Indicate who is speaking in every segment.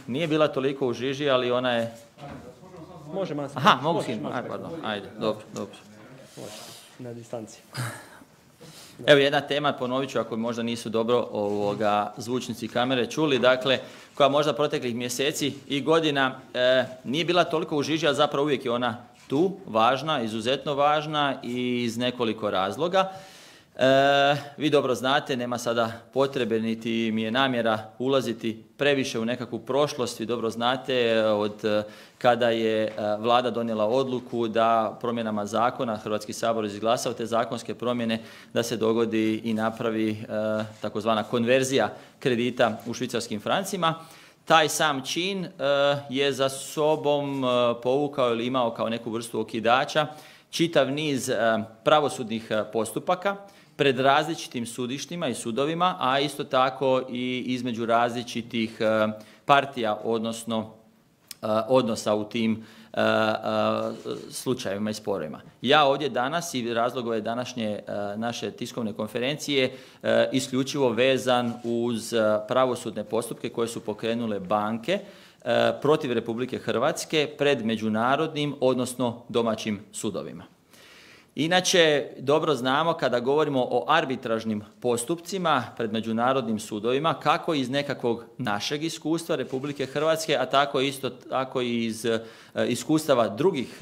Speaker 1: Nije bila toliko u žiži, ali ona je...
Speaker 2: Može masno.
Speaker 1: Aha, mogu skinuti. Pardon. Ajde, dobro.
Speaker 2: Može, na distanci.
Speaker 1: Evo jedna tema, ponovit ću ako možda nisu dobro zvučnici kamere čuli, dakle, koja možda proteklih mjeseci i godina nije bila toliko u žiži, a zapravo uvijek je ona tu, važna, izuzetno važna i iz nekoliko razloga. Vi dobro znate, nema sada potrebe niti mi je namjera ulaziti previše u nekakvu prošlost. Vi dobro znate od kada je Vlada donijela odluku da promjenama zakona Hrvatski sabor izglasao te zakonske promjene da se dogodi i napravi takozvana konverzija kredita u švicarskim francima. Taj sam čin je za sobom povukao ili imao kao neku vrstu okidača čitav niz pravosudnih postupaka pred različitim sudištima i sudovima, a isto tako i između različitih partija, odnosno odnosa u tim slučajevima i sporovima. Ja ovdje danas i razlog ove današnje naše tiskovne konferencije isključivo vezan uz pravosudne postupke koje su pokrenule banke protiv Republike Hrvatske pred međunarodnim, odnosno domaćim sudovima. Inače, dobro znamo kada govorimo o arbitražnim postupcima pred međunarodnim sudovima, kako iz nekakvog našeg iskustva Republike Hrvatske, a tako isto tako i iz iskustava drugih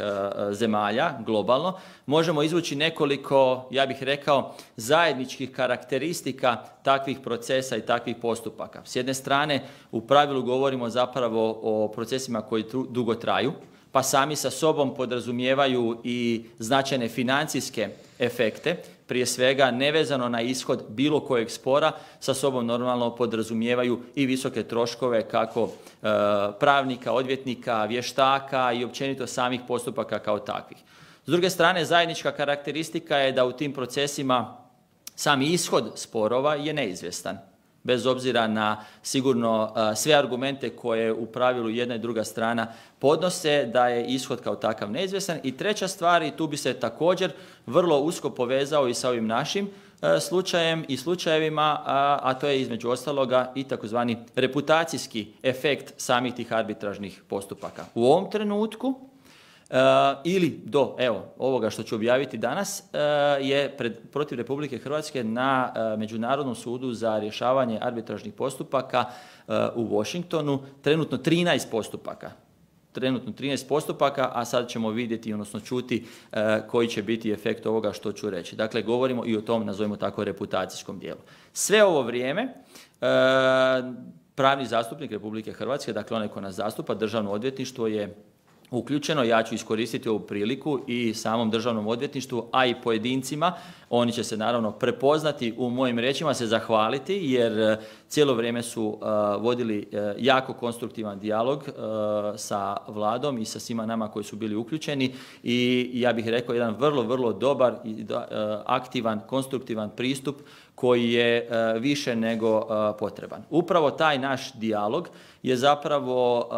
Speaker 1: zemalja globalno, možemo izvući nekoliko, ja bih rekao, zajedničkih karakteristika takvih procesa i takvih postupaka. S jedne strane, u pravilu govorimo zapravo o procesima koji dugo traju, pa sami sa sobom podrazumijevaju i značajne financijske efekte, prije svega nevezano na ishod bilo kojeg spora, sa sobom normalno podrazumijevaju i visoke troškove kako pravnika, odvjetnika, vještaka i općenito samih postupaka kao takvih. S druge strane, zajednička karakteristika je da u tim procesima sami ishod sporova je neizvjestan. Bez obzira na sigurno sve argumente koje u pravilu jedna i druga strana podnose, da je ishod kao takav neizvjestan. I treća stvar, i tu bi se također vrlo usko povezao i sa ovim našim slučajem i slučajevima, a to je između ostaloga i takozvani reputacijski efekt samih tih arbitražnih postupaka. U ovom trenutku ili do ovoga što ću objaviti danas je protiv Republike Hrvatske na Međunarodnom sudu za rješavanje arbitražnih postupaka u Washingtonu trenutno 13 postupaka. Trenutno 13 postupaka, a sad ćemo vidjeti, odnosno čuti koji će biti efekt ovoga što ću reći. Dakle, govorimo i o tom, nazovimo tako, reputacijskom dijelu. Sve ovo vrijeme pravni zastupnik Republike Hrvatske, dakle onaj ko nas zastupa, Državno odvjetništvo je uključeno. Ja ću iskoristiti ovu priliku i samom Državnom odvjetništvu, a i pojedincima. Oni će se naravno prepoznati u mojim riječima, se zahvaliti jer cijelo vrijeme su vodili jako konstruktivan dijalog sa Vladom i sa svima nama koji su bili uključeni i ja bih rekao jedan vrlo dobar i aktivan, konstruktivan pristup koji je više nego potreban. Upravo taj naš dijalog je zapravo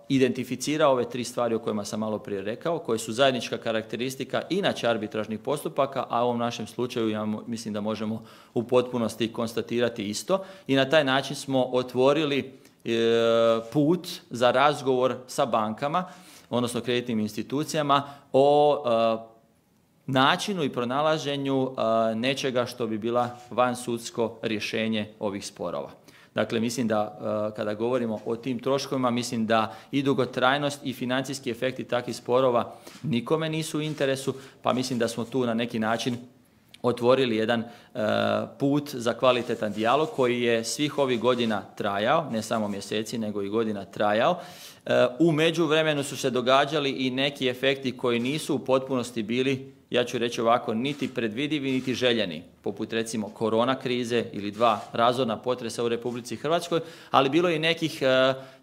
Speaker 1: identificirao ove tri stvari o kojima sam malo prije rekao, koje su zajednička karakteristika inače arbitražnih postupaka, a u ovom našem slučaju ja mislim da možemo u potpunosti konstatirati isto. I na taj način smo otvorili put za razgovor sa bankama, odnosno kreditnim institucijama o načinu i pronalaženju nečega što bi bila vansudsko rješenje ovih sporova. Dakle, mislim da kada govorimo o tim troškovima, mislim da i dugotrajnost i financijski efekti takvih sporova nikome nisu u interesu, pa mislim da smo tu na neki način otvorili jedan put za kvalitetan dijalog koji je svih ovih godina trajao, ne samo mjeseci nego i godina trajao. U međuvremenu su se događali i neki efekti koji nisu u potpunosti bili, ja ću reći ovako, niti predvidivi niti željeni, poput recimo korona krize ili 2 razorna potresa u Republici Hrvatskoj, ali bilo je i nekih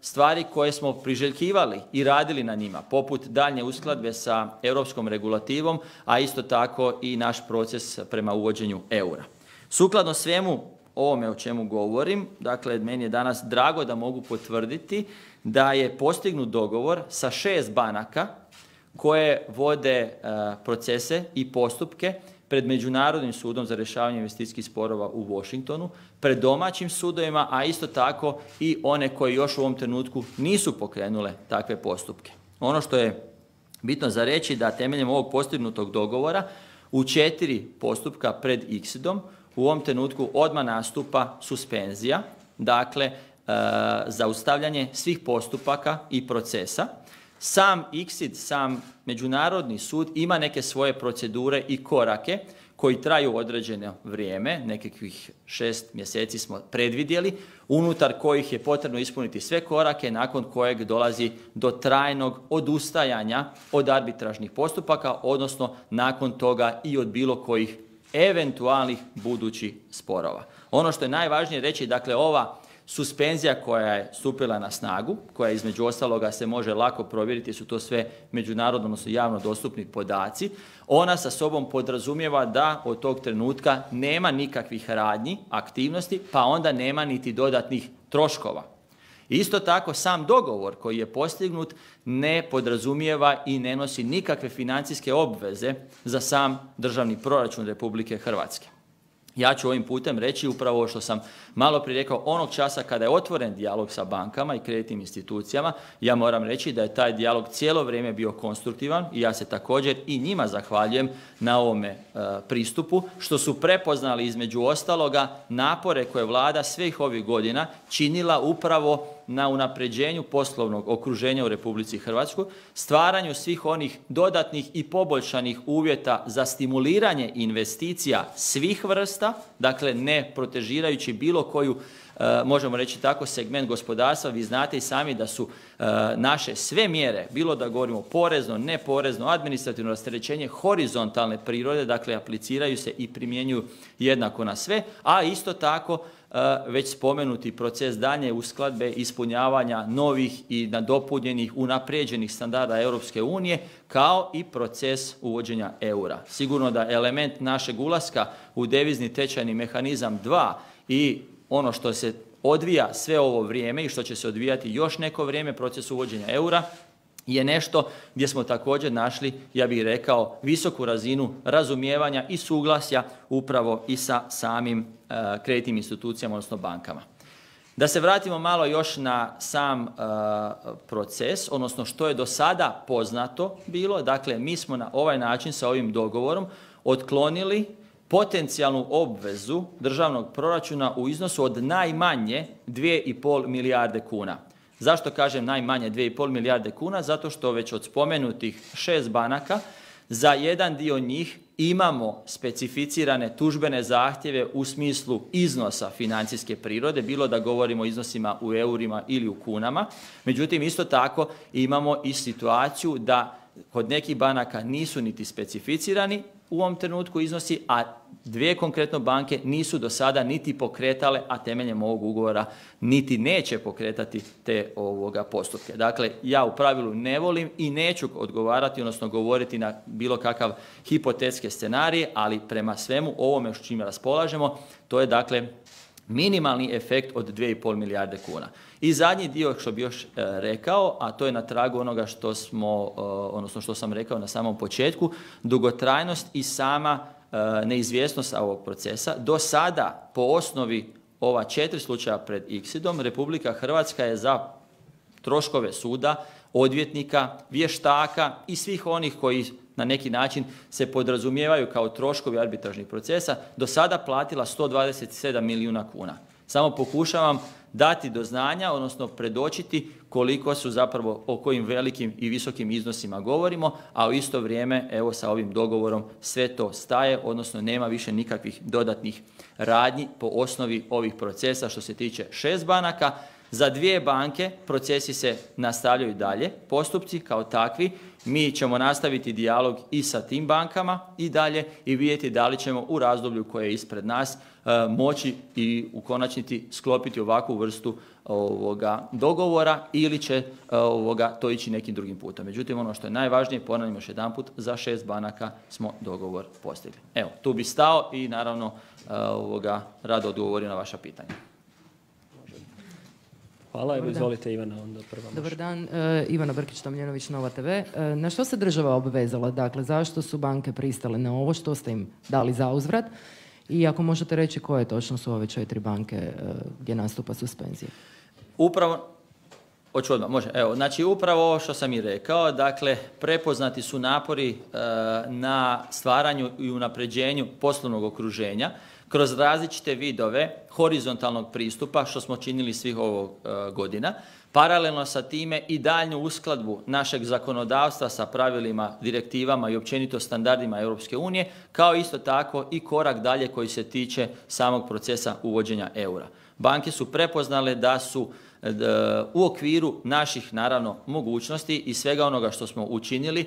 Speaker 1: stvari koje smo priželjkivali i radili na njima, poput daljnje uskladbe sa europskom regulativom, a isto tako i naš proces prema uvođenju eura. Sukladno svemu ovome o čemu govorim, dakle meni je danas drago da mogu potvrditi da je postignut dogovor sa 6 banaka koje vode procese i postupke pred Međunarodnim sudom za rješavanje investicijskih sporova u Washingtonu, pred domaćim sudovima, a isto tako i one koje još u ovom trenutku nisu pokrenule takve postupke. Ono što je bitno za reći da temeljem ovog postignutog dogovora u 4 postupka pred ICSID-om u ovom trenutku odmah nastupa suspenzija, dakle zaustavljanje svih postupaka i procesa. Sam ICSID, sam Međunarodni sud ima neke svoje procedure i korake koji traju određeno vrijeme, nekakvih 6 mjeseci smo predvidjeli, unutar kojih je potrebno ispuniti sve korake, nakon kojeg dolazi do trajnog odustajanja od arbitražnih postupaka, odnosno nakon toga i od bilo kojih eventualnih budućih sporova. Ono što je najvažnije reći, dakle ova suspenzija koja je stupila na snagu, koja između ostaloga se može lako provjeriti, su to sve međunarodno, odnosno javno dostupni podaci, ona sa sobom podrazumijeva da od tog trenutka nema nikakvih radnji, aktivnosti, pa onda nema niti dodatnih troškova. Isto tako sam dogovor koji je postignut ne podrazumijeva i ne nosi nikakve financijske obveze za sam državni proračun Republike Hrvatske. Ja ću ovim putem reći upravo ovo što sam malo prije rekao, onog časa kada je otvoren dijalog sa bankama i kreditnim institucijama, ja moram reći da je taj dijalog cijelo vrijeme bio konstruktivan i ja se također i njima zahvaljujem na ovome pristupu, što su prepoznali između ostaloga napore koje Vlada svih ovih godina činila upravo na unapređenju poslovnog okruženja u Republici Hrvatskoj, stvaranju svih onih dodatnih i poboljšanih uvjeta za stimuliranje investicija svih vrsta, dakle ne protežirajući bilo koju, možemo reći tako, segment gospodarstva. Vi znate i sami da su naše sve mjere, bilo da govorimo porezno, neporezno, administrativno rasterećenje, horizontalne prirode, dakle apliciraju se i primjenjuju jednako na sve, a isto tako već spomenuti proces daljnje uskladbe, ispunjavanja novih i nadopunjenih, unaprijeđenih standarda Europske unije, kao i proces uvođenja eura. Sigurno da element našeg ulaska u devizni tečajni mehanizam 2 i ono što se odvija sve ovo vrijeme i što će se odvijati još neko vrijeme, proces uvođenja eura, je nešto gdje smo također našli, ja bih rekao, visoku razinu razumijevanja i suglasja upravo i sa samim kreditnim institucijama, odnosno bankama. Da se vratimo malo još na sam proces, odnosno što je do sada poznato bilo. Dakle, mi smo na ovaj način sa ovim dogovorom otklonili potencijalnu obvezu državnog proračuna u iznosu od najmanje 2,5 milijarde kuna. Zašto kažem najmanje 2,5 milijarde kuna? Zato što već od spomenutih 6 banaka za jedan dio njih imamo specificirane tužbene zahtjeve u smislu iznosa financijske prirode, bilo da govorimo o iznosima u eurima ili u kunama. Međutim, isto tako imamo i situaciju da kod nekih banaka nisu niti specificirani u ovom trenutku iznosi, a 2 konkretno banke nisu do sada niti pokretale, a temeljem ovog ugovora niti neće pokretati te postupke. Dakle, ja u pravilu ne volim i neću odgovarati, odnosno govoriti na bilo kakav hipotetske scenarije, ali prema svemu ovome s čime raspolažemo, to je dakle minimalni efekt od 2,5 milijarde kuna. I zadnji dio što bi još rekao, a to je na tragu onoga što što sam rekao na samom početku, dugotrajnost i sama neizvjesnost ovog procesa. Do sada, po osnovi ova 4 slučaja pred ICSID-om, Republika Hrvatska je za troškove suda, odvjetnika, vještaka i svih onih koji na neki način se podrazumijevaju kao troškovi arbitražnih procesa, do sada platila 127 milijuna kuna. Samo pokušavam dati do znanja, odnosno predočiti koliko su zapravo, o kojim velikim i visokim iznosima govorimo, a u isto vrijeme, evo sa ovim dogovorom sve to staje, odnosno nema više nikakvih dodatnih radnji po osnovi ovih procesa što se tiče 6 banaka. Za 2 banke procesi se nastavljaju dalje, postupci kao takvi. Mi ćemo nastaviti dijalog i sa tim bankama i dalje i vidjeti da li ćemo u razdoblju koje je ispred nas moći i u konačnici sklopiti ovakvu vrstu dogovora ili će to ići nekim drugim putem. Međutim, ono što je najvažnije, ponavljam još jedanput, za 6 banaka smo dogovor postigli. Evo, tu bi stao i naravno rado odgovorio na vaša pitanja.
Speaker 2: Hvala, evo izvolite Ivana, onda prva.
Speaker 3: Dobar dan, Ivana Brkić-Tomljenović, Nova TV. Na što se država obvezala? Dakle, zašto su banke pristale na ovo? Što ste im dali za uzvrat? I ako možete reći koje točno su ove 4 banke gdje nastupa suspenzija?
Speaker 1: Upravo, hoću odmah, može. Evo, znači upravo ovo što sam i rekao, dakle prepoznati su napori na stvaranju i unapređenju poslovnog okruženja kroz različite vidove horizontalnog pristupa što smo činili svih ovog godina. Paralelno sa time i daljnju uskladbu našeg zakonodavstva sa pravilima, direktivama i općenito standardima Europske unije, kao isto tako i korak dalje koji se tiče samog procesa uvođenja eura. Banke su prepoznale da su u okviru naših naravno mogućnosti i svega onoga što smo učinili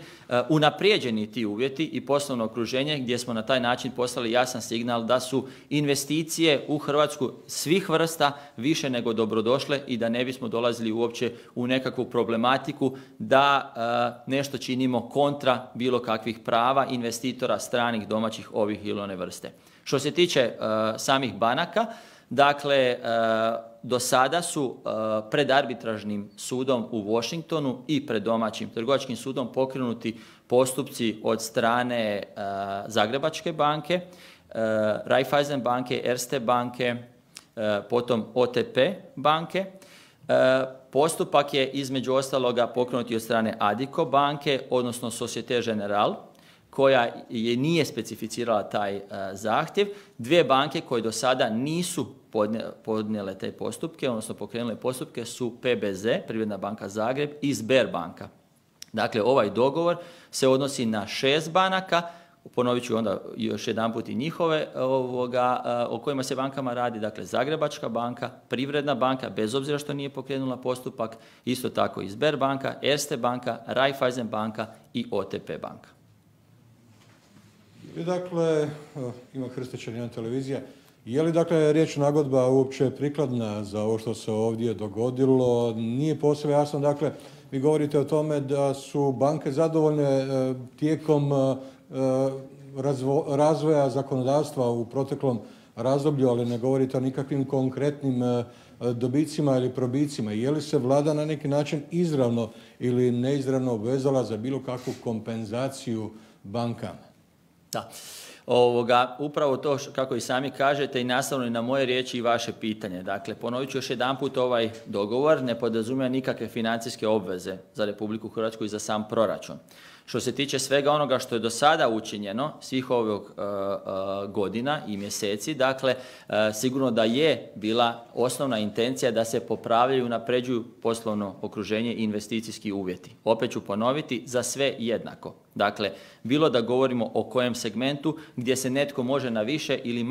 Speaker 1: unaprijeđeni ti uvjeti i poslovno okruženje gdje smo na taj način poslali jasan signal da su investicije u Hrvatsku svih vrsta više nego dobrodošle i da ne bismo dolazili uopće u nekakvu problematiku da nešto činimo kontra bilo kakvih prava investitora stranih, domaćih, ovih ili one vrste. Što se tiče samih banaka, dakle, do sada su pred arbitražnim sudom u Washingtonu i pred domaćim trgovačkim sudom pokrenuti postupci od strane Zagrebačke banke, Raiffeisen banke, Erste banke, potom OTP banke. Postupak je između ostaloga pokrenuti od strane Addiko banke, odnosno Societe Generale, koja nije specificirala taj zahtjev. 2 banke koje do sada nisu podnijele te postupke, odnosno pokrenule postupke su PBZ, Privredna banka Zagreb, i Sberbanka. Dakle, ovaj dogovor se odnosi na 6 banaka, ponovit ću onda još jedanput i njihove o kojima se bankama radi, dakle Zagrebačka banka, Privredna banka, bez obzira što nije pokrenula postupak, isto tako i Sberbanka, Erste banka, Raiffeisen banka i OTP banka.
Speaker 4: I dakle, ima Hrstićan, jedna televizija, je li dakle riječ nagodba uopće prikladna za ovo što se ovdje dogodilo? Nije posve jasno, dakle, vi govorite o tome da su banke zadovoljne tijekom razvoja zakonodavstva u proteklom razdoblju, ali ne govorite o nikakvim konkretnim dobicima ili probicima. Je li se vlada na neki način izravno ili neizravno obvezala za bilo kakvu kompenzaciju bankama?
Speaker 1: Da. Upravo to kako i sami kažete i nastavno i na moje riječi i vaše pitanje. Dakle, ponovit ću još jedanput, ovaj dogovor ne podrazumijeva nikakve financijske obveze za Republiku Hrvatsku i za sam proračun. Što se tiče svega onoga što je do sada učinjeno, svih ovog godina i mjeseci, dakle, sigurno da je bila osnovna intencija da se popravljaju i unapređuju poslovno okruženje i investicijski uvjeti. Opet ću ponoviti, za sve jednako. Dakle, bilo da govorimo o kojem segmentu gdje se netko može na više ili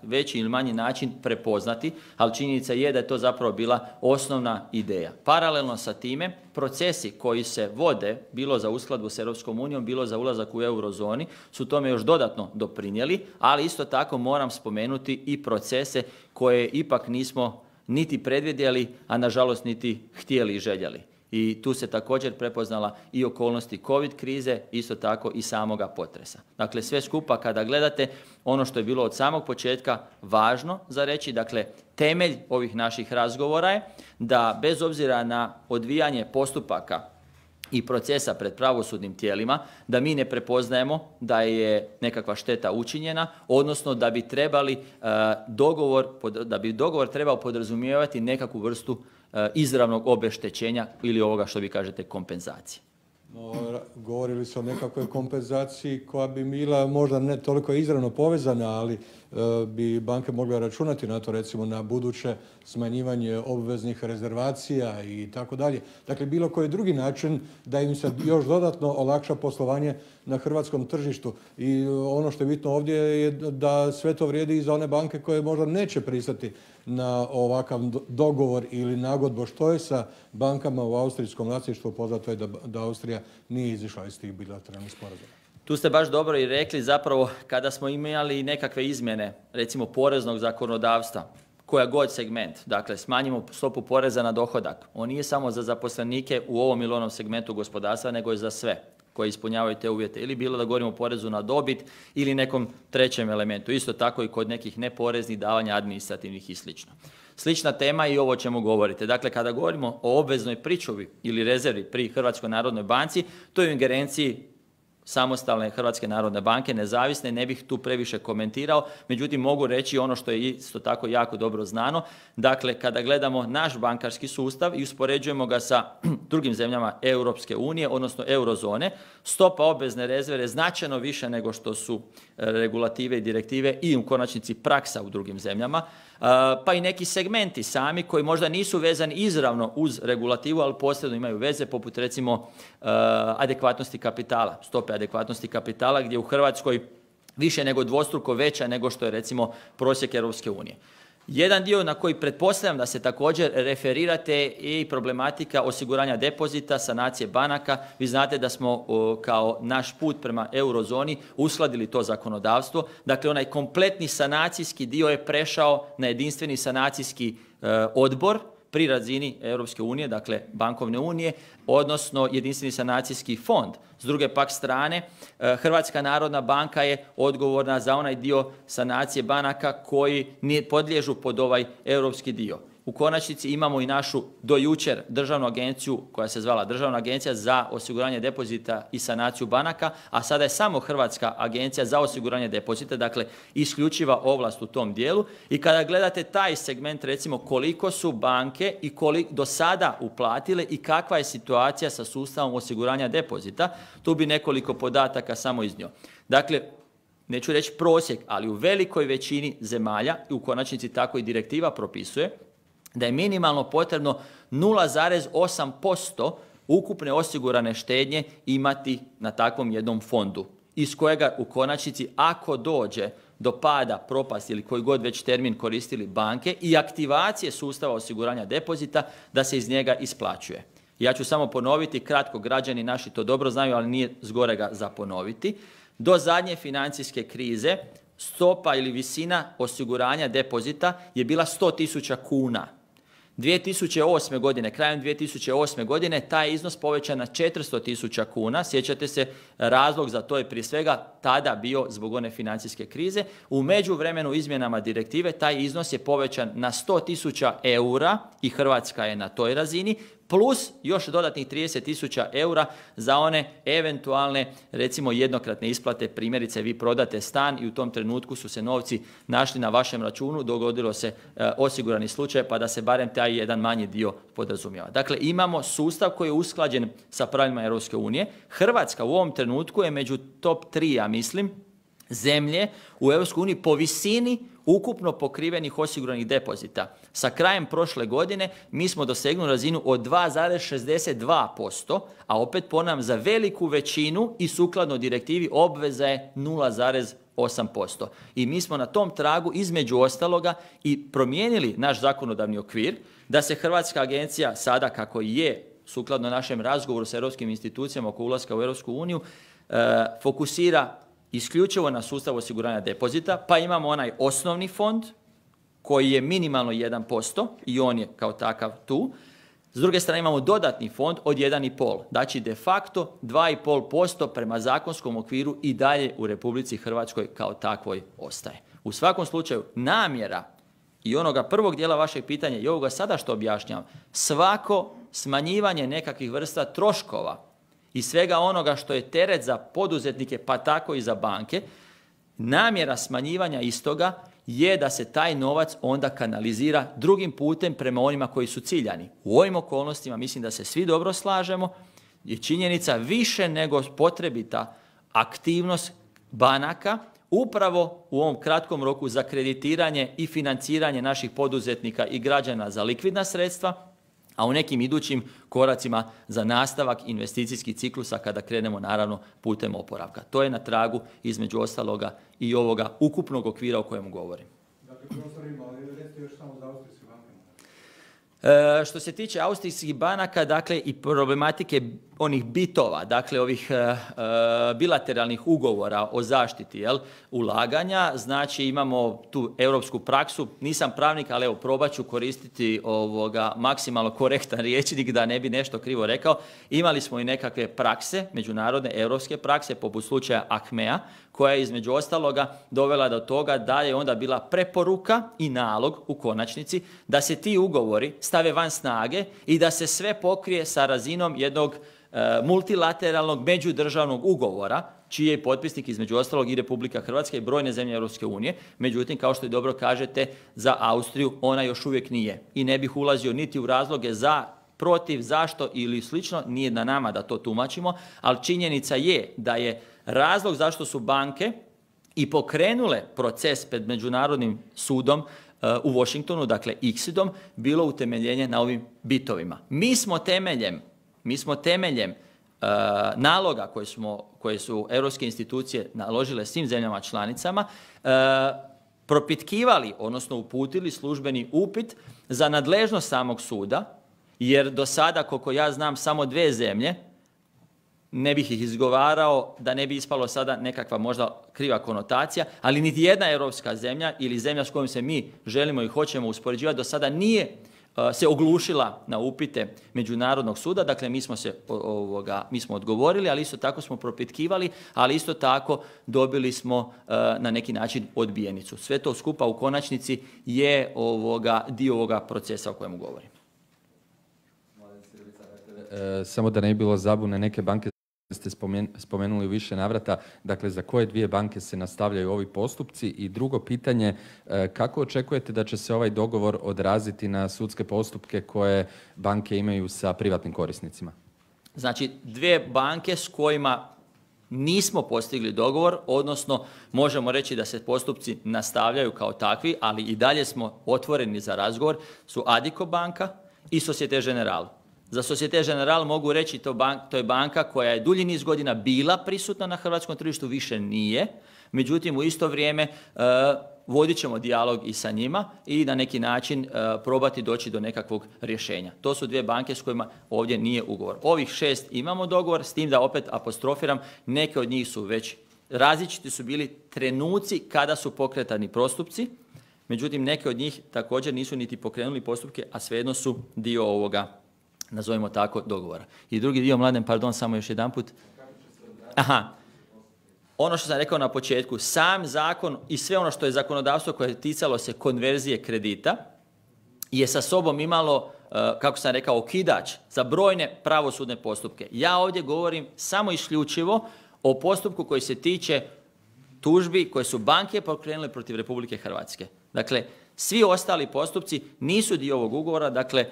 Speaker 1: veći ili manji način prepoznati, ali činjenica je da je to zapravo bila osnovna ideja. Paralelno sa time, procesi koji se vode, bilo za uskladbu s Europskom unijom, bilo za ulazak u eurozoni, su tome još dodatno doprinijeli, ali isto tako moram spomenuti i procese koje ipak nismo niti predvidjeli, a nažalost niti htjeli i željeli. I tu se također prepoznala i okolnosti COVID krize, isto tako i samoga potresa. Dakle, sve skupa kada gledate, ono što je bilo od samog početka važno za reći, dakle, temelj ovih naših razgovora je da bez obzira na odvijanje postupaka i procesa pred pravosudnim tijelima, da mi ne prepoznajemo da je nekakva šteta učinjena, odnosno da bi dogovor trebao podrazumijevati nekakvu vrstu izravnog obeštećenja ili ovoga što vi kažete kompenzacije.
Speaker 4: Govorili se o nekakvoj kompenzaciji koja bi bila možda ne toliko izravno povezana, ali bi banke mogle računati na to, recimo na buduće smanjivanje obveznih rezervacija i tako dalje. Dakle, bilo koji drugi način da im se još dodatno olakša poslovanje na hrvatskom tržištu. I ono što je bitno ovdje je da sve to vrijedi i za one banke koje možda neće pristati na ovakav dogovor ili nagodbu. Što je sa bankama u austrijskom vlasništvu? Poznato je da Austrija nije izišla iz tih bilateralnih sporazuma.
Speaker 1: Tu ste baš dobro i rekli, zapravo kada smo imali nekakve izmjene, recimo poreznog zakonodavstva, koja god segment, dakle smanjimo stopu poreza na dohodak, on nije samo za zaposlenike u ovom ili onom segmentu gospodarstva, nego je za sve koji ispunjavaju te uvjete. Ili bilo da govorimo o porezu na dobit ili nekom trećem elementu. Isto tako i kod nekih neporeznih davanja administrativnih i sl. Slična tema i ovo o čemu govorite. Dakle, kada govorimo o obveznoj pričuvi ili rezervi pri Hrvatskoj narodnoj banci, to je u ingerenciji samostalne Hrvatske narodne banke, nezavisne, ne bih tu previše komentirao, međutim mogu reći ono što je isto tako jako dobro znano. Dakle, kada gledamo naš bankarski sustav i uspoređujemo ga sa drugim zemljama Europske unije, odnosno eurozone, stopa obvezne rezerve je značajno više nego što su regulative i direktive i u konačnici praksa u drugim zemljama, pa i neki segmenti sami koji možda nisu vezani izravno uz regulativu, ali posredno imaju veze, poput recimo adekvatnosti kapitala, stope adekvatnosti kapitala, gdje u Hrvatskoj više nego dvostruko veća nego što je recimo prosjek Europske unije. Jedan dio na koji pretpostavljam da se također referirate i problematika osiguranja depozita, sanacije banaka. Vi znate da smo kao naš put prema eurozoni uskladili to zakonodavstvo. Dakle, onaj kompletni sanacijski dio je prešao na jedinstveni sanacijski odbor pri razini Europske unije, dakle bankovne unije, odnosno jedinstveni sanacijski fond. S druge pak strane, Hrvatska narodna banka je odgovorna za onaj dio sanacije banaka koji ne podliježu pod ovaj europski dio. U konačnici imamo i našu do jučer državnu agenciju koja se zvala Državna agencija za osiguranje depozita i sanaciju banaka, a sada je samo Hrvatska agencija za osiguranje depozita, dakle isključiva ovlast u tom dijelu. I kada gledate taj segment, recimo koliko su banke i koliko do sada uplatile i kakva je situacija sa sustavom osiguranja depozita, tu bi nekoliko podataka samo iznio. Dakle, neću reći prosjek, ali u velikoj većini zemalja, i u konačnici tako i direktiva propisuje, da je minimalno potrebno 0,8% ukupne osigurane štednje imati na takvom jednom fondu, iz kojega u konačnici ako dođe do pada, propasti ili koji god već termin koristili banke i aktivacije sustava osiguranja depozita, da se iz njega isplaćuje. Ja ću samo ponoviti, kratko, građani naši to dobro znaju, ali nije zgorega za ponoviti. Do zadnje financijske krize stopa ili visina osiguranja depozita je bila 100.000 kuna. 2008. godine, krajem 2008. godine, taj iznos povećan na 400.000 kuna. Sjećate se, razlog za to je prije svega tada bio zbog one financijske krize. U međuvremenu izmjenama direktive taj iznos je povećan na 100.000 eura i Hrvatska je na toj razini, plus još dodatnih 30.000 eura za one eventualne, recimo jednokratne isplate. Primjerice, vi prodate stan i u tom trenutku su se novci našli na vašem računu, dogodilo se osigurani slučaj, pa da se barem taj jedan manji dio podrazumijeva. Dakle, imamo sustav koji je usklađen sa pravilima Europske unije. Hrvatska u ovom trenutku je među top 3, ja mislim, zemlje u Europskoj uniji po visini ukupno pokrivenih osiguranih depozita. Sa krajem prošle godine mi smo dosegnuli razinu od 2,62%, a opet ponavljam, za veliku većinu i sukladno direktivi obveza je 0,8%. I mi smo na tom tragu između ostaloga i promijenili naš zakonodavni okvir da se Hrvatska agencija sada, kako je sukladno našem razgovoru sa europskim institucijama oko ulaska u Europsku uniju, fokusira isključivo na sustav osiguranja depozita, pa imamo onaj osnovni fond koji je minimalno 1% i on je kao takav tu. S druge strane imamo dodatni fond od 1,5%. Znači de facto 2,5% prema zakonskom okviru i dalje u Republici Hrvatskoj kao takvoj ostaje. U svakom slučaju namjera i onoga prvog dijela vašeg pitanja i ovoga sada što objašnjavam, svako smanjivanje nekakvih vrsta troškova i svega onoga što je teret za poduzetnike, pa tako i za banke, namjera smanjivanja istoga je da se taj novac onda kanalizira drugim putem prema onima koji su ciljani. U ovim okolnostima mislim da se svi dobro slažemo, je činjenica više nego potrebita aktivnost banaka upravo u ovom kratkom roku za kreditiranje i financiranje naših poduzetnika i građana za likvidna sredstva, a u nekim idućim koracima za nastavak investicijskih ciklusa kada krenemo naravno putem oporavka. To je na tragu između ostaloga i ovoga ukupnog okvira o kojemu govorim.
Speaker 4: Dakle, prostor ima, ali recite još samo za austrijske banke.
Speaker 1: Što se tiče austrijskih banaka, dakle i problematike onih bitova, dakle ovih bilateralnih ugovora o zaštiti ulaganja, znači imamo tu europsku praksu, nisam pravnik, ali evo probat ću koristiti maksimalno korektan rječnik da ne bi nešto krivo rekao. Imali smo i nekakve prakse, međunarodne europske prakse, poput slučaja Achmea, koja je između ostaloga dovela do toga da je onda bila preporuka i nalog u konačnici da se ti ugovori stave van snage i da se sve pokrije sa razinom jednog multilateralnog međudržavnog ugovora, čiji je potpisnik između ostalog i Republika Hrvatska i brojne zemlje Europske unije. Međutim, kao što i dobro kažete, za Austriju ona još uvijek nije. I ne bih ulazio niti u razloge za, protiv, zašto ili slično, nije na nama da to tumačimo, ali činjenica je da je razlog zašto su banke i pokrenule proces pred Međunarodnim sudom u Washingtonu, dakle ICSID-om, bilo utemeljenje na ovim bitovima. Mi smo temeljem naloga koje su europske institucije naložile svim zemljama članicama propitkivali, odnosno uputili službeni upit za nadležnost samog suda, jer do sada, koliko ja znam, samo 2 zemlje, ne bih ih izgovarao da ne bi ispalo sada nekakva možda kriva konotacija, ali niti jedna europska zemlja ili zemlja s kojom se mi želimo i hoćemo uspoređivati do sada nije se oglušila na upite Međunarodnog suda. Dakle, mi smo odgovorili, ali isto tako smo propitkivali, ali isto tako dobili smo na neki način odbijenicu. Sve to skupa u konačnici je dio ovoga procesa o kojemu govorim.
Speaker 5: Samo da ne bi bilo zabune, neke banke ste spomenuli u više navrata, dakle za koje 2 banke se nastavljaju ovi postupci? I drugo pitanje, kako očekujete da će se ovaj dogovor odraziti na sudske postupke koje banke imaju sa privatnim korisnicima?
Speaker 1: Znači, 2 banke s kojima nismo postigli dogovor, odnosno možemo reći da se postupci nastavljaju kao takvi, ali i dalje smo otvoreni za razgovor, su Addiko banka i Societe Generale. Za Societe Generale mogu reći to je banka koja je dulji niz godina bila prisutna na hrvatskom tržištu, više nije. Međutim, u isto vrijeme vodit ćemo dijalog i sa njima i na neki način probati doći do nekakvog rješenja. To su 2 banke s kojima ovdje nije ugovor. Ovih 6 imamo dogovor, s tim da opet apostrofiram, neke od njih su već različiti su bili trenuci kada su pokretani postupci. Međutim, neke od njih također nisu niti pokrenuli postupke, a svejedno su dio ovoga, nazovimo tako, dogovora. I drugi dio, Mladen, pardon, samo još jedanput. Ono što sam rekao na početku, sam zakon i sve ono što je zakonodavstvo koje je ticalo se konverzije kredita je sa sobom imalo, kako sam rekao, okidač za brojne pravosudne postupke. Ja ovdje govorim samo isključivo o postupku koji se tiče tužbi koje su banke pokrenule protiv Republike Hrvatske. Dakle, svi ostali postupci nisu dio ovog ugovora, dakle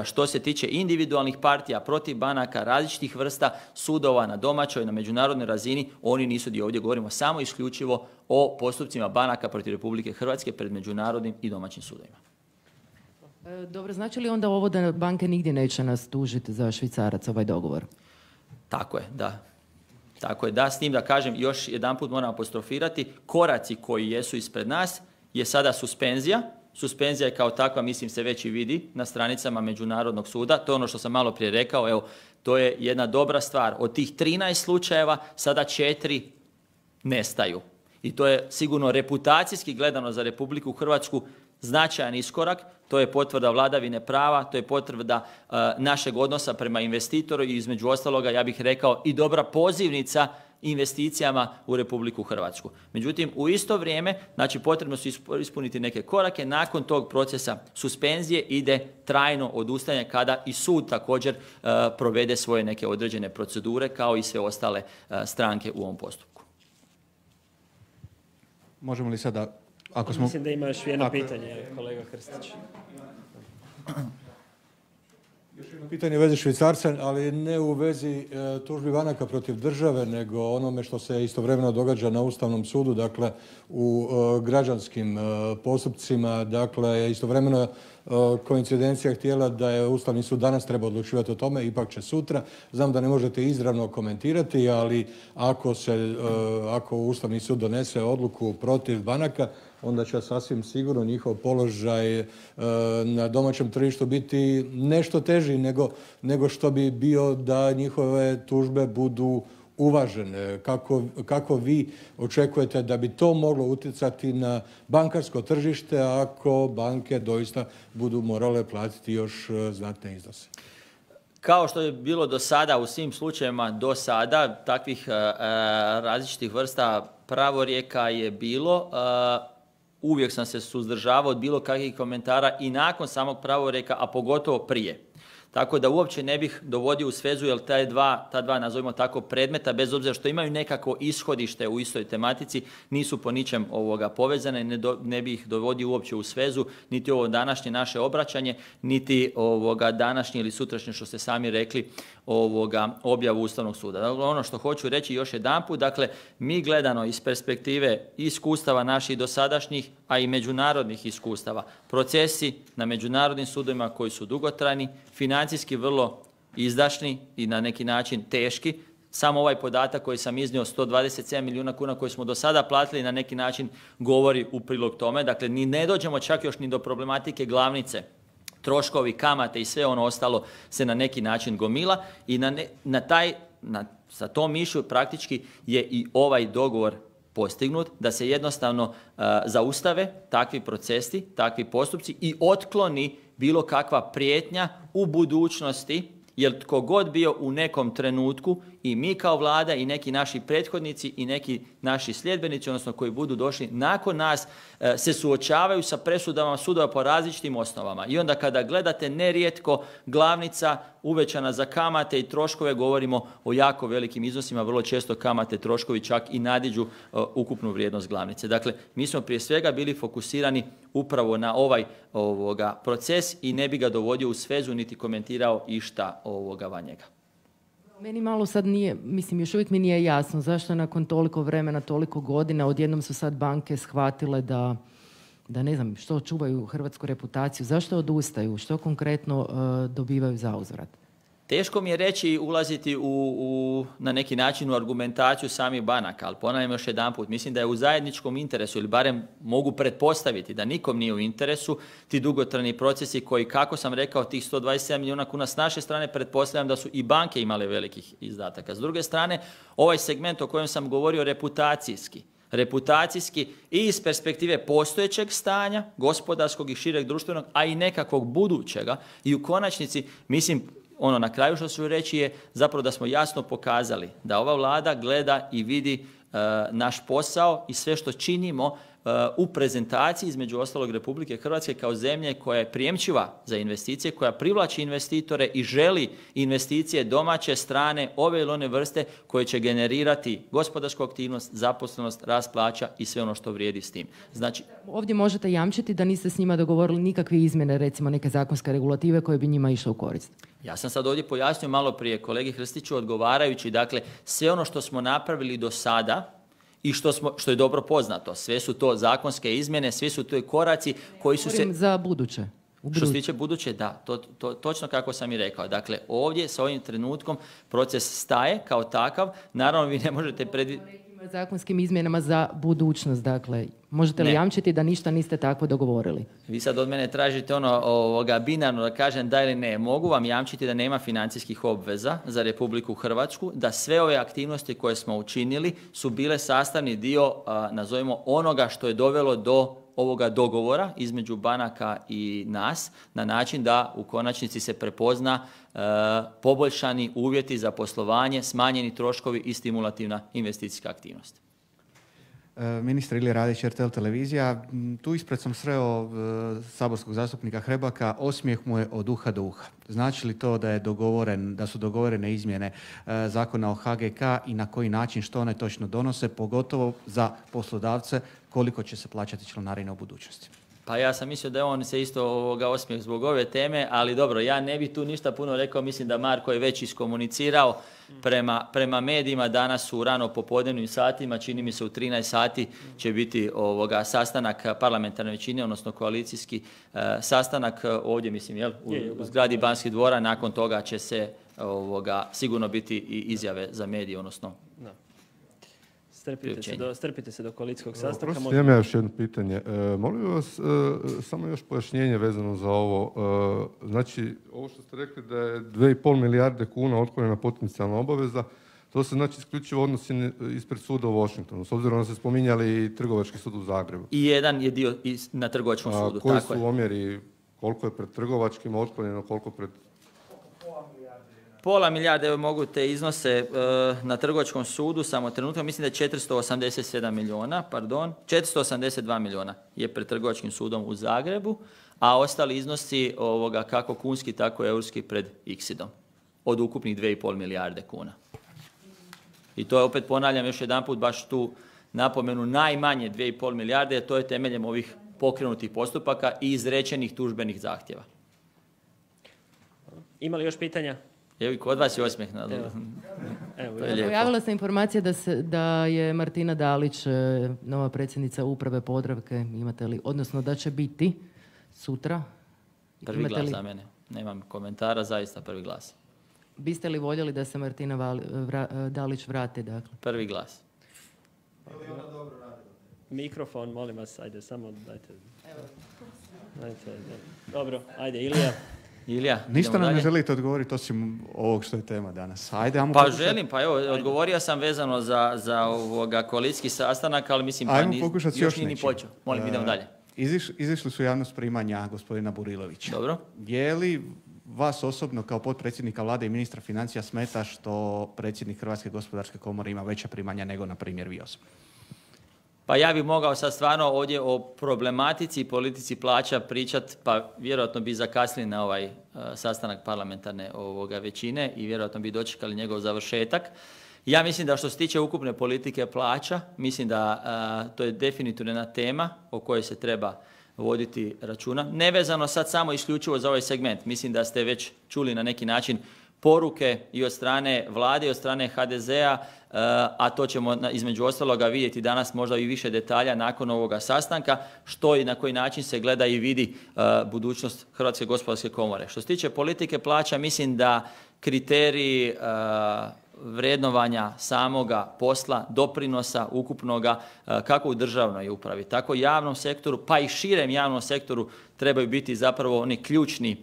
Speaker 1: što se tiče individualnih partija protiv banaka, različitih vrsta sudova na domaćoj, na međunarodnoj razini, oni nisu dio. Ovdje govorimo samo isključivo o postupcima banaka protiv Republike Hrvatske pred međunarodnim i domaćim sudovima.
Speaker 3: Dobro, znači li onda ovo da banke nigdje neće nas tužiti za švicarac, ovaj dogovor?
Speaker 1: Tako je, da. Tako je, da, s tim da kažem, još jedanput moram apostrofirati, koraci koji jesu ispred nas je sada suspenzija. Suspenzija je kao takva, mislim, se već i vidi na stranicama Međunarodnog suda. To je ono što sam malo prije rekao, evo, to je jedna dobra stvar. Od tih 13 slučajeva sada 4 nestaju. I to je sigurno reputacijski gledano za Republiku Hrvatsku značajan iskorak. To je potvrda vladavine prava, to je potvrda našeg odnosa prema investitoru i između ostaloga, ja bih rekao, i dobra pozivnica investicijama u Republiku Hrvatsku. Međutim, u isto vrijeme, znači potrebno su ispuniti neke korake. Nakon tog procesa suspenzije ide trajno odustajanje kada i sud također provede svoje neke određene procedure kao i sve ostale stranke u ovom postupku.
Speaker 5: Možemo li sada...
Speaker 2: Mislim da ima još jedno pitanje, kolega Krstić.
Speaker 4: Još jedno pitanje u vezi švicarca, ali ne u vezi tužbi banaka protiv države, nego onome što se istovremeno događa na Ustavnom sudu, dakle u građanskim postupcima. Dakle, istovremeno koincidencija htjela da je Ustavni sud danas treba odlučivati o tome, ipak će sutra. Znam da ne možete izravno komentirati, ali ako Ustavni sud donese odluku protiv banaka, onda će sasvim sigurno njihov položaj na domaćem tržištu biti nešto teži nego što bi bio da njihove tužbe budu uvažene. Kako vi očekujete da bi to moglo utjecati na bankarsko tržište ako banke doista budu morale platiti još znatne iznose?
Speaker 1: Kao što je bilo do sada, u svim slučajevima do sada, takvih različitih vrsta pravorijeka je bilo. Uvijek sam se suzdržavao od bilo kakvih komentara i nakon samog pravorijeka, a pogotovo prije. Tako da uopće ne bih dovodio u svezu, jer ta dva nazovimo tako predmeta, bez obzira što imaju nekako ishodište u istoj tematici, nisu po ničem povezane, ne bih ih dovodio uopće u svezu, niti ovo današnje naše obraćanje, niti današnje ili sutrašnje, što ste sami rekli, objavu Ustavnog suda. Dakle, ono što hoću reći još jedanput, dakle, mi gledano iz perspektive iskustava naših dosadašnjih, a i međunarodnih iskustava, procesi na međunarodnim sudovima koji su dugotrajni, financijski vrlo izdašni i na neki način teški. Samo ovaj podatak koji sam iznio, 127 milijuna kuna koje smo do sada platili, na neki način govori u prilog tome. Dakle, ni ne dođemo čak još ni do problematike glavnice. Troškovi, kamate i sve ono ostalo se na neki način gomila i sa tom mišlju praktički je i ovaj dogovor postignut, da se jednostavno zaustave takvi procesi, takvi postupci i otkloni bilo kakva prijetnja u budućnosti, jer tko god bio u nekom trenutku, i mi kao Vlada i neki naši prethodnici i neki naši sljedbenici, odnosno koji budu došli nakon nas, se suočavaju sa presudama sudova po različitim osnovama. I onda kada gledate, nerijetko glavnica uvećana za kamate i troškove, govorimo o jako velikim iznosima, vrlo često kamate, troškovi čak i nadiđu ukupnu vrijednost glavnice. Dakle, mi smo prije svega bili fokusirani upravo na ovaj proces i ne bi ga dovodio u svezu niti komentirao išta van njega.
Speaker 3: Meni malo sad nije, mislim još uvijek mi nije jasno zašto nakon toliko vremena, toliko godina odjednom su sad banke shvatile da ne znam što čuvaju hrvatsku reputaciju, zašto odustaju, što konkretno dobivaju za uzvrat.
Speaker 1: Teško mi je reći, ulaziti na neki način u argumentaciju samih banaka, ali ponavljam još jedanput, mislim da je u zajedničkom interesu, ili barem mogu pretpostaviti da nikom nije u interesu, ti dugotrajni procesi koji, kako sam rekao, tih 127 milijuna kuna s naše strane, pretpostavljam da su i banke imale velikih izdataka. S druge strane, ovaj segment o kojem sam govorio reputacijski i iz perspektive postojećeg stanja, gospodarskog i šireg društvenog, a i nekakvog budućega, i u konačnici, mislim, ono na kraju što ću reći je zapravo da smo jasno pokazali da ova Vlada gleda i vidi naš posao i sve što činimo u prezentaciji, između ostalog, Republike Hrvatske kao zemlje koja je prijemčiva za investicije, koja privlači investitore i želi investicije domaće, strane, ove ili one vrste koje će generirati gospodarsku aktivnost, zaposlenost, rast plaća i sve ono što vrijedi s tim. Znači,
Speaker 3: ovdje možete jamčiti da niste s njima dogovorili nikakve izmjene, recimo neke zakonske regulative koje bi njima išle u korist?
Speaker 1: Ja sam sad ovdje pojasnio malo prije kolegi Hrstiću odgovarajući, dakle, sve ono što smo napravili do sada i što je dobro poznato, sve su to zakonske izmjene, svi su to koraci koji su se...
Speaker 3: Za buduće.
Speaker 1: Što se tiče buduće, da, točno kako sam i rekao. Dakle, ovdje sa ovim trenutkom proces staje kao takav. Naravno, vi ne možete
Speaker 3: zakonskim izmjenama za budućnost, dakle, možete li jamčiti da ništa niste tako dogovorili?
Speaker 1: Vi sad od mene tražite binarno da kažem da ili ne. Mogu vam jamčiti da nema financijskih obveza za Republiku Hrvatsku, da sve ove aktivnosti koje smo učinili su bile sastavni dio, nazovimo, onoga što je dovelo do ovoga dogovora između banaka i nas, na način da u konačnici se prepozna poboljšani uvjeti za poslovanje, smanjeni troškovi i stimulativna investicijska aktivnost.
Speaker 6: Ministar Ilija Radić, RTL televizija. Tu ispred sam sreo saborskog zastupnika Hrebaka, osmijeh mu je od uha do uha. Znači li to da su dogovorene izmjene zakona o HGK i na koji način, što one točno donose, pogotovo za poslodavce, koliko će se plaćati članarine u budućnosti?
Speaker 1: Pa ja sam mislio da je on se isto osmijeh zbog ove teme, ali dobro, ja ne bih tu ništa puno rekao, mislim da Marko je već iskomunicirao prema medijima, danas u rano popodnevnim satima, čini mi se u 13 sati će biti sastanak parlamentarne većine, odnosno koalicijski sastanak ovdje, mislim, u zgradi Banskih dvora, nakon toga će se sigurno biti i izjave za medije, odnosno...
Speaker 2: Strpite se do koalicijskog sastanka.
Speaker 7: Imam ja još jedno pitanje. Molim vas samo još pojašnjenje vezano za ovo. Znači, ovo što ste rekli da je 2,5 milijarde kuna otklonjena potencijalna obaveza, to se znači isključivo odnosi ispred suda u Washingtonu, s obzirom da ste spominjali i trgovački sud u Zagrebu.
Speaker 1: I jedan je dio na trgovačkom sudu.
Speaker 7: A koji su omjeri, koliko je pred trgovačkim otklonjeno, koliko pred...
Speaker 1: Pola milijarde, evo mogu te iznose na trgovačkom sudu, samo trenutka, mislim da je 482 milijuna je pred trgovačkim sudom u Zagrebu, a ostali iznosi kako kunski, tako eurski pred Iksidom, od ukupnih 2,5 milijarde kuna. I to je, opet ponavljam još jedanput, baš tu napomenu, najmanje 2,5 milijarde, jer to je temeljem ovih pokrenutih postupaka i izrečenih tužbenih zahtjeva.
Speaker 2: Ima li još pitanja?
Speaker 1: Evo i kod vas je osmijeh.
Speaker 3: Pojavila se informacija da je Martina Dalić nova predsjednica uprave Podravke. Imate li, odnosno da će biti sutra?
Speaker 1: Prvi glas za mene. Nemam komentara, zaista prvi glas.
Speaker 3: Biste li voljeli da se Martina Dalić vrati? Dakle?
Speaker 1: Prvi glas.
Speaker 2: Mikrofon, molim vas, ajde, samo dajte. Dobro, ajde, Ilija.
Speaker 6: Ništa nam ne želite odgovoriti osim ovog što je tema danas. Ajde,
Speaker 1: želim, odgovorio sam vezano za koalicijski sastanak, ali mislim još nije ni počeo. Molim, idemo dalje.
Speaker 6: Izišli su javnost primanja gospodina Burilovića.
Speaker 1: Dobro.
Speaker 6: Je li vas osobno kao potpredsjednika vlade i ministra financija smeta što predsjednik Hrvatske gospodarske komore ima veća primanja nego, na primjer, vi osobno?
Speaker 1: Pa ja bih mogao sad stvarno ovdje o problematici i politici plaća pričati, pa vjerojatno bi zakasnili na ovaj sastanak parlamentarne većine i vjerojatno bi dočekali njegov završetak. Ja mislim da što se tiče ukupne politike plaća, mislim da to je definitivno jedna tema o kojoj se treba voditi računa. Nevezano sad samo isključivo za ovaj segment. Mislim da ste već čuli na neki način poruke i od strane vlade i od strane HDZ-a, a to ćemo između ostaloga vidjeti danas možda i više detalja nakon ovoga sastanka, što i na koji način se gleda i vidi budućnost Hrvatske gospodarske komore. Što se tiče politike plaća, mislim da kriteriji vrednovanja samoga posla, doprinosa ukupnoga, kako u državnoj upravi, tako i javnom sektoru, pa i širem javnom sektoru trebaju biti zapravo oni ključni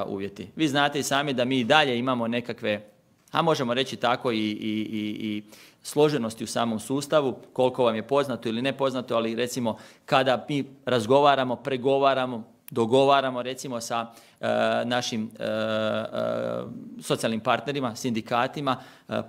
Speaker 1: uvjeti. Vi znate i sami da mi i dalje imamo nekakve, a možemo reći tako i složenosti u samom sustavu, koliko vam je poznato ili nepoznato, ali recimo kada mi razgovaramo, pregovaramo, dogovaramo recimo sa našim socijalnim partnerima, sindikatima,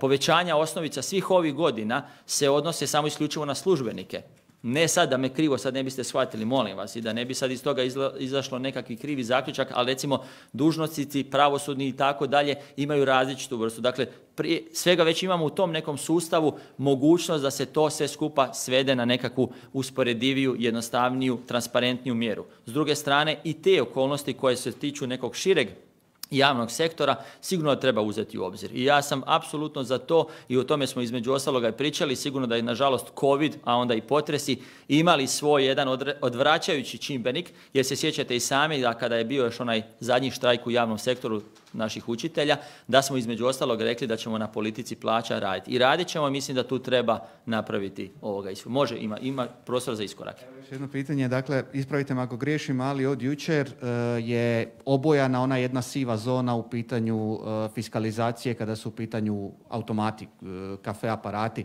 Speaker 1: povećanja osnovica svih ovih godina se odnose samo isključivo na službenike. Ne sad da me krivo sad ne biste shvatili, molim vas, i da ne bi sad iz toga izašlo nekakvi krivi zaključak, ali recimo dužnosnici, pravosudni i tako dalje imaju različitu vrstu. Dakle, prije svega već imamo u tom nekom sustavu mogućnost da se to sve skupa svede na nekakvu usporediviju, jednostavniju, transparentniju mjeru. S druge strane i te okolnosti koje se tiču nekog šireg javnog sektora sigurno treba uzeti u obzir. I ja sam apsolutno za to i o tome smo između ostaloga i pričali. Sigurno da je nažalost COVID, a onda i potresi imali svoj jedan odvraćajući čimbenik, jer se sjećate i sami da kada je bio još onaj zadnji štrajk u javnom sektoru naših učitelja, da smo između ostalog rekli da ćemo na politici plaća raditi. I radit ćemo, mislim da tu treba napraviti ovoga. Može, ima prostor za iskorak.
Speaker 6: Još jedno pitanje, dakle, ispravite me ako griješim, ali od jučer je obojana ona jedna siva zona u pitanju fiskalizacije kada su u pitanju automati, kafe aparati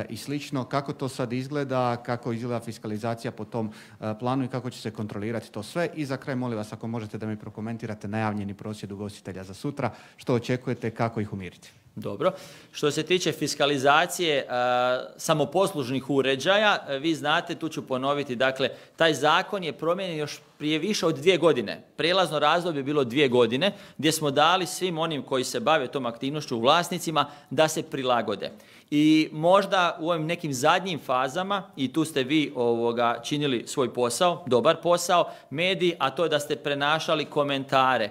Speaker 6: i slično. Kako to sad izgleda, kako izgleda fiskalizacija po tom planu i kako će se kontrolirati to sve? I za kraj, molim vas, ako možete da mi prokomentirate najavljeni prosvjed ugostitelja za sutra, što očekujete, kako ih umiriti?
Speaker 1: Dobro. Što se tiče fiskalizacije samoposlužnih uređaja, vi znate, tu ću ponoviti, dakle, taj zakon je promijenjen još prije više od 2 godine. Prijelazno razdoblje je bilo 2 godine, gdje smo dali svim onim koji se bave tom aktivnošću, vlasnicima, da se prilagode. I možda u ovim nekim zadnjim fazama, i tu ste vi činili svoj posao, dobar posao, mediji, a to je da ste prenašali komentare.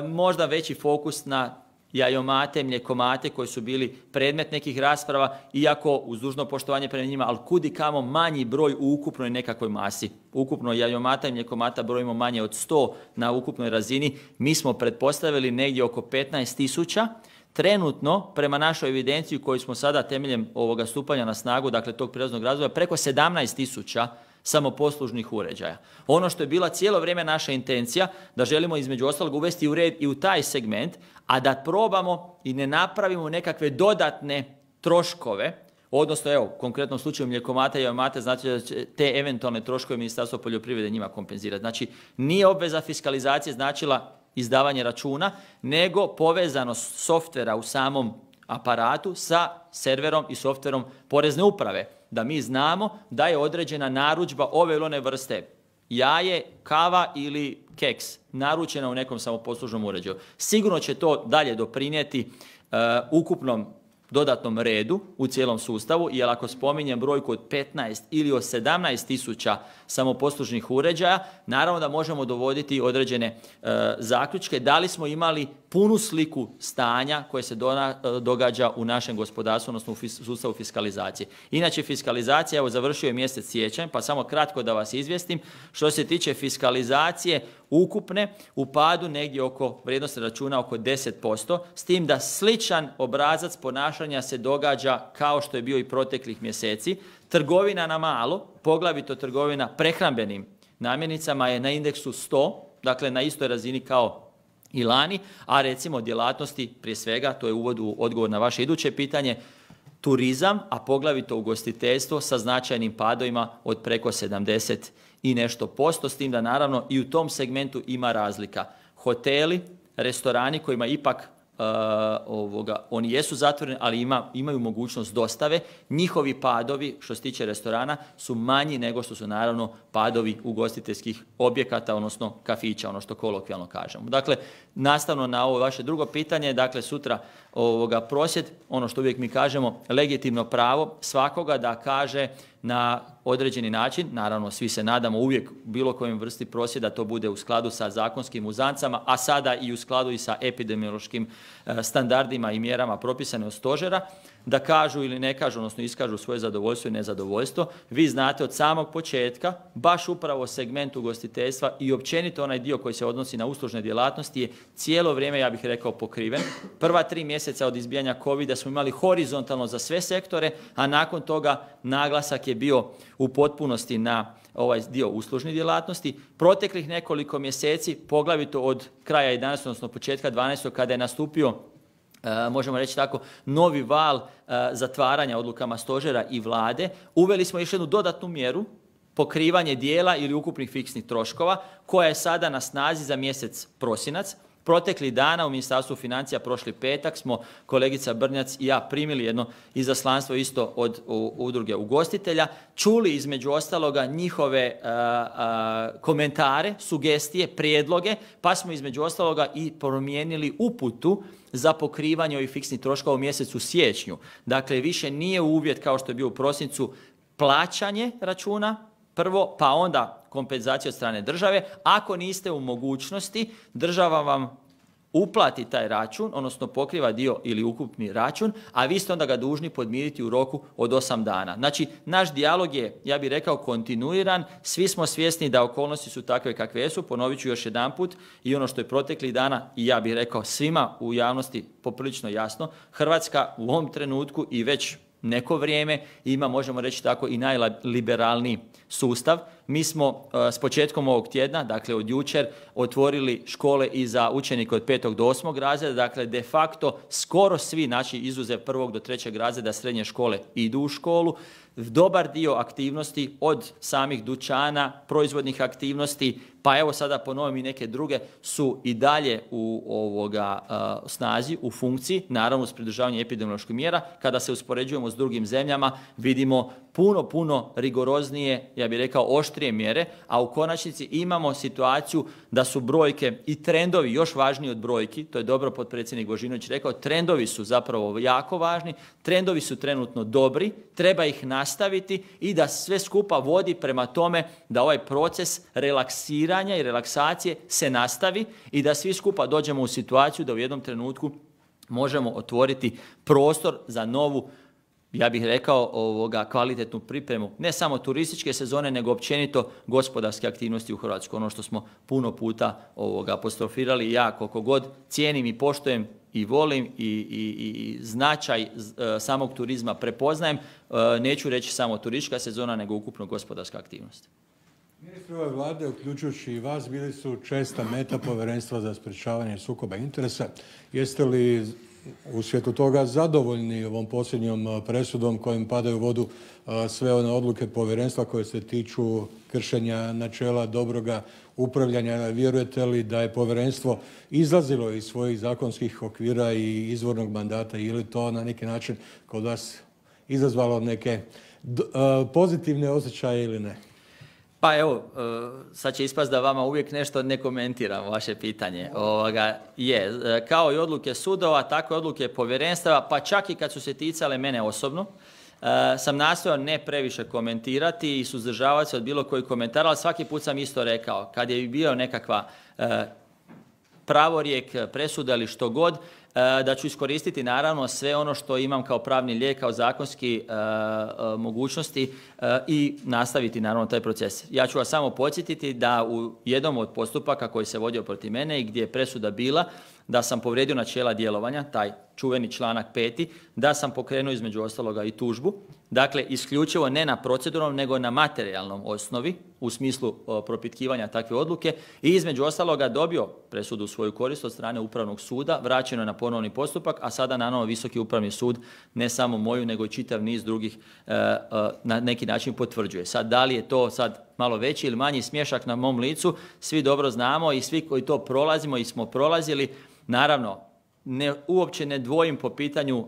Speaker 1: Možda veći fokus na jajomate, mlijekomate koji su bili predmet nekih rasprava, iako uz dužno poštovanje prema njima, ali kud i kamo manji broj u ukupnoj nekakvoj masi. Ukupno jajomata i mlijekomata brojimo manje od 100 na ukupnoj razini. Mi smo pretpostavili negdje oko 15.000. trenutno, prema našoj evidenciji koju smo sada temeljem ovoga stupanja na snagu, dakle tog prijelaznog razdoblja, preko 17.000 samoposlužnih uređaja. Ono što je bila cijelo vrijeme naša intencija, da želimo između ostalog uvesti u red i u taj segment, a da probamo i ne napravimo nekakve dodatne troškove, odnosno evo, u konkretnom slučaju mlijekomata i jajomata, znači da će te eventualne troškove Ministarstvo poljoprivrede njima kompenzirati. Znači, nije obveza fiskalizacije značila izdavanje računa, nego povezanost softvera u samom aparatu sa serverom i softverom Porezne uprave. Da mi znamo da je određena narudžba ove ili one vrste, jaje, kava ili keks, naručena u nekom samoposlužnom uređaju. Sigurno će to dalje doprinijeti ukupnom dodatnom redu u cijelom sustavu, jer ako spominjem brojku od 15 ili od 17.000 samoposlužnih uređaja, naravno da možemo dovoditi određene zaključke da li smo imali punu sliku stanja koje se događa u našem gospodarstvu, odnosno u sustavu fiskalizacije. Inače, fiskalizacija, evo završio je mjesec siječanj, pa samo kratko da vas izvijestim. Što se tiče fiskalizacije ukupne, u padu negdje oko vrijednosti računa oko 10%, s tim da sličan obrazac ponašanja se događa kao što je bio i proteklih mjeseci. Trgovina na malo, poglavito trgovina prehrambenim namirnicama je na indeksu 100, dakle na istoj razini kao i lani, a recimo djelatnosti, prije svega, to je uvod u odgovor na vaše iduće pitanje, turizam, a poglavito ugostiteljstvo sa značajnim padovima od preko 70 i nešto posto, s tim da naravno i u tom segmentu ima razlika. Hoteli, restorani kojima ipak oni jesu zatvoreni, ali imaju mogućnost dostave, njihovi padovi što se tiče restorana su manji nego što su naravno padovi ugostiteljskih objekata, odnosno kafića, ono što kolokvijalno kažemo. Dakle, nastavno na ovo vaše drugo pitanje, dakle sutra prosvjed, ono što uvijek mi kažemo, legitimno pravo svakoga da kaže na određeni način, naravno svi se nadamo uvijek bilo kojem vrsti prosvjeda to bude u skladu sa zakonskim uzancama, a sada i u skladu i sa epidemiološkim standardima i mjerama propisane od stožera, da kažu ili ne kažu, odnosno iskažu svoje zadovoljstvo i nezadovoljstvo. Vi znate od samog početka, baš upravo segment ugostiteljstva i općenito onaj dio koji se odnosi na uslužne djelatnosti je cijelo vrijeme, ja bih rekao, pokriven. Prva 3 mjeseca od izbijanja covida smo imali horizontalno za sve sektore, a nakon toga naglasak je bio u potpunosti na ovaj dio uslužnih djelatnosti. Proteklih nekoliko mjeseci, poglavito od kraja 11. odnosno početka 12. kada je nastupio, možemo reći tako, novi val zatvaranja odlukama stožera i vlade, uveli smo još jednu dodatnu mjeru, pokrivanje dijela ili ukupnih fiksnih troškova, koja je sada na snazi za mjesec prosinac. Proteklih dana u Ministarstvu financija, prošli petak, smo kolegica Brnjac i ja primili jedno izaslanstvo isto od udruge ugostitelja, čuli između ostaloga njihove komentare, sugestije, prijedloge, pa smo između ostaloga i promijenili uputu za pokrivanje ovih fiksnih troškova u mjesecu siječnju. Dakle, više nije uvjet kao što je bio u prosincu plaćanje računa prvo, pa onda kompenzacija od strane države. Ako niste u mogućnosti, država vam uplati taj račun, odnosno pokriva dio ili ukupni račun, a vi ste onda ga dužni podmiriti u roku od 8 dana. Znači, naš dijalog je, ja bih rekao, kontinuiran. Svi smo svjesni da okolnosti su takve kakve jesu. Ponovit ću još jedanput i ono što je proteklih dana, i ja bih rekao svima u javnosti poprilično jasno, Hrvatska u ovom trenutku i već neko vrijeme ima, možemo reći tako, i najliberalniji sustav. Mi smo s početkom ovog tjedna, dakle od jučer, otvorili škole i za učenike od 5. do 8. razreda, dakle de facto skoro svi naši izuzev 1. do 3. razreda srednje škole idu u školu. Dobar dio aktivnosti od samih dućana, proizvodnih aktivnosti, pa evo sada po novim i neke druge su i dalje u snazi, u funkciji, naravno s pridržavanjem epidemioloških mjera. Kada se uspoređujemo s drugim zemljama, vidimo puno rigoroznije, ja bih rekao oštrije mjere, a u konačnici imamo situaciju da su brojke i trendovi još važniji od brojki, to je dobro potpredsjednik Božinović rekao, trendovi su zapravo jako važni, trendovi su trenutno dobri, treba ih nastaviti i da sve skupa vodi prema tome da ovaj proces relaksiranja i relaksacije se nastavi i da svi skupa dođemo u situaciju da u jednom trenutku možemo otvoriti prostor za novu, ja bih rekao, kvalitetnu pripremu, ne samo turističke sezone, nego općenito gospodarske aktivnosti u Hrvatskoj. Ono što smo puno puta apostrofirali, ja koliko god cijenim i poštujem i volim i značaj samog turizma prepoznajem, neću reći samo turistička sezona, nego ukupno gospodarska aktivnost.
Speaker 4: Ministri ove vlade, uključujući i vas, bili su česta meta Povjerenstva za sprječavanje sukoba interesa. Jeste li u svijetu toga zadovoljni ovom posljednjom presudom kojim padaju u vodu sve one odluke povjerenstva koje se tiču kršenja načela dobroga upravljanja? Vjerujete li da je povjerenstvo izlazilo iz svojih zakonskih okvira i izvornog mandata, ili to na neki način kod vas izazvalo neke pozitivne osjećaje ili ne?
Speaker 1: Pa evo, sad će ispast da vama uvijek nešto ne komentiram vaše pitanje. Kao i odluke sudova, tako i odluke povjerenstava, pa čak i kad su se ticale mene osobno, sam nastojao ne previše komentirati i suzdržavati se od bilo kojih komentara, ali svaki put sam isto rekao, kad je bio nekakva pravorijek, presuda ili što god, da ću iskoristiti naravno sve ono što imam kao pravni lijek, kao zakonski mogućnosti i nastaviti naravno taj proces. Ja ću vas samo podsjetiti da u jednom od postupaka koji se vodio protiv mene i gdje je presuda bila da sam povrijedio načela djelovanja, taj čuveni članak 5. da sam pokrenuo između ostaloga i tužbu. Dakle, isključivo ne na proceduralnom, nego na materijalnom osnovi u smislu propitkivanja takve odluke i između ostaloga dobio presudu u svoju korist od strane Upravnog suda, vraćeno je na ponovni postupak, a sada naravno Visoki upravni sud ne samo moju, nego i čitav niz drugih na neki način potvrđuje. Sad, da li je to sad malo veći ili manji smješak na mom licu, svi dobro znamo i svi koji to prolazimo i smo prolazili, naravno, uopće ne dvojim po pitanju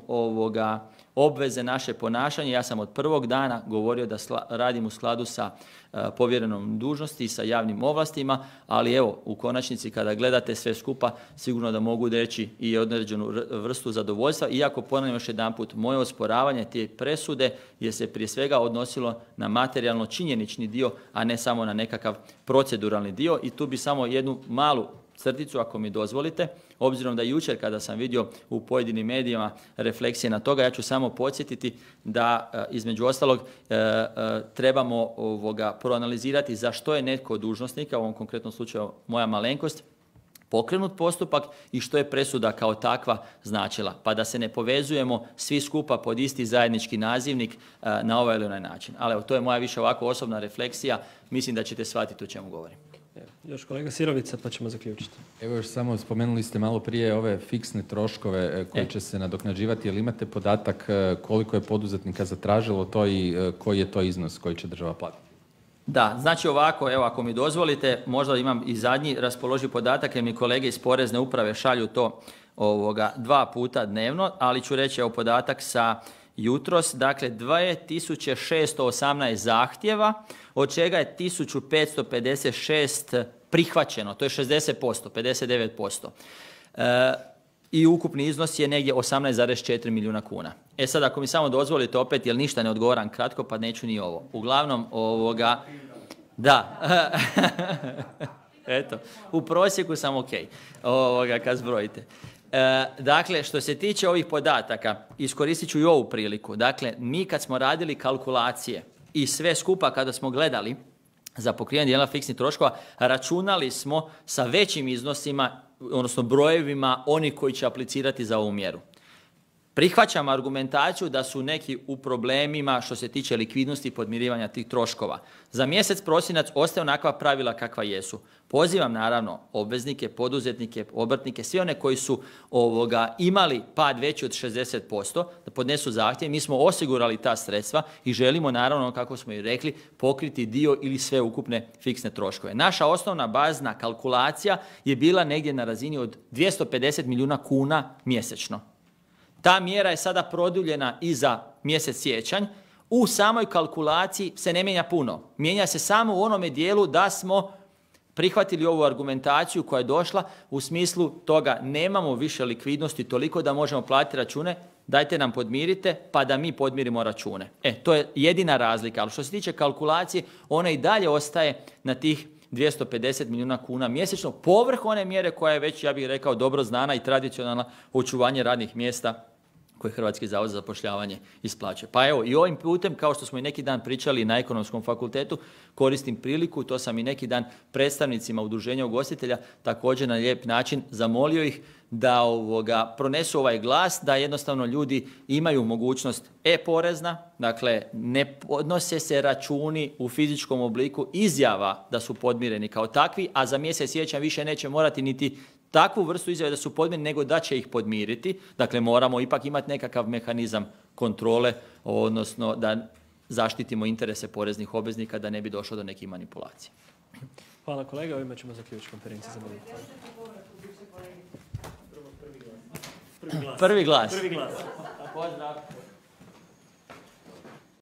Speaker 1: obveze naše ponašanje. Ja sam od prvog dana govorio da radim u skladu sa povjerenom dužnosti i sa javnim ovlastima, ali evo, u konačnici kada gledate sve skupa, sigurno da mogu reći i određenu vrstu zadovoljstva, iako ponavljam još jedanput, moje osporavanje te presude je se prije svega odnosilo na materijalno činjenični dio, a ne samo na nekakav proceduralni dio. I tu bi samo jednu malu crticu, ako mi dozvolite, obzirom da jučer kada sam vidio u pojedinim medijima refleksije na toga, ja ću samo podsjetiti da između ostalog trebamo proanalizirati za što je netko od dužnosnika, u ovom konkretnom slučaju moja malenkost, pokrenut postupak i što je presuda kao takva značila, pa da se ne povezujemo svi skupa pod isti zajednički nazivnik na ovaj ili onaj način. Ali evo, to je moja više ovako osobna refleksija, mislim da ćete shvatiti o čemu govorim.
Speaker 2: Još kolega Sirovica, pa ćemo zaključiti.
Speaker 5: Evo još samo spomenuli ste malo prije ove fiksne troškove koji će se nadoknađivati. Jel imate podatak koliko je poduzetnika zatražilo to i koji je to iznos koji će država platiti?
Speaker 1: Da, znači ovako, evo ako mi dozvolite, možda imam i zadnji raspoloživ podatak jer mi kolege iz Porezne uprave šalju to 2 puta dnevno, ali ću reći evo podatak sa jutros, dakle 2618 zahtjeva, od čega je 1556 prihvaćeno, to je 60%, 59%. I ukupni iznos je negdje 18,4 milijuna kuna. E sad, ako mi samo dozvolite opet, jer ništa ne odgovaram kratko, pa neću ni ovo. Uglavnom, da, eto, u prosjeku sam ok, kad zbrojite. Dakle, što se tiče ovih podataka, iskoristit ću i ovu priliku. Dakle, mi kad smo radili kalkulacije i sve skupa kada smo gledali za pokrivanje dijela fiksnih troškova, računali smo sa većim iznosima, odnosno brojevima onih koji će aplicirati za ovu mjeru. Prihvaćam argumentaciju da su neki u problemima što se tiče likvidnosti i podmirivanja tih troškova. Za mjesec prosinac ostaje onakva pravila kakva jesu. Pozivam naravno obveznike, poduzetnike, obrtnike, sve one koji su imali pad veći od 60% da podnesu zahtjev. Mi smo osigurali ta sredstva i želimo naravno, kako smo i rekli, pokriti dio ili sve ukupne fiksne troškove. Naša osnovna bazna kalkulacija je bila negdje na razini od 250 milijuna kuna mjesečno. Ta mjera je sada produljena i za mjesec siječanj. U samoj kalkulaciji se ne mijenja puno. Mijenja se samo u onome dijelu da smo prihvatili ovu argumentaciju koja je došla u smislu toga nemamo više likvidnosti toliko da možemo platiti račune, dajte nam podmirite pa da mi podmirimo račune. To je jedina razlika, ali što se tiče kalkulacije, ona i dalje ostaje na tih 250 milijuna kuna mjesečno, povrh one mjere koja je već, ja bih rekao, dobro znana i tradicionalna očuvanje radnih mjesta koje Hrvatski zavod za zapošljavanje isplaćuje. Pa evo, i ovim putem, kao što smo i neki dan pričali na Ekonomskom fakultetu, koristim priliku, to sam i neki dan predstavnicima udruženja ugostitelja također na lijep način zamolio ih da pronesu ovaj glas, da jednostavno ljudi imaju mogućnost e-porezna, dakle ne podnose se računi u fizičkom obliku izjava da su podmireni kao takvi, a za mjesec siječanj više neće morati niti takvu vrstu izjave da su podmireni, nego da će ih podmiriti. Dakle, moramo ipak imati nekakav mehanizam kontrole, odnosno da zaštitimo interese poreznih obveznika da ne bi došlo do nekih manipulacija.
Speaker 2: Hvala kolega, ovime ćemo zaključiti konferenciju za bolje. Prvi glas.
Speaker 1: Pozdrav.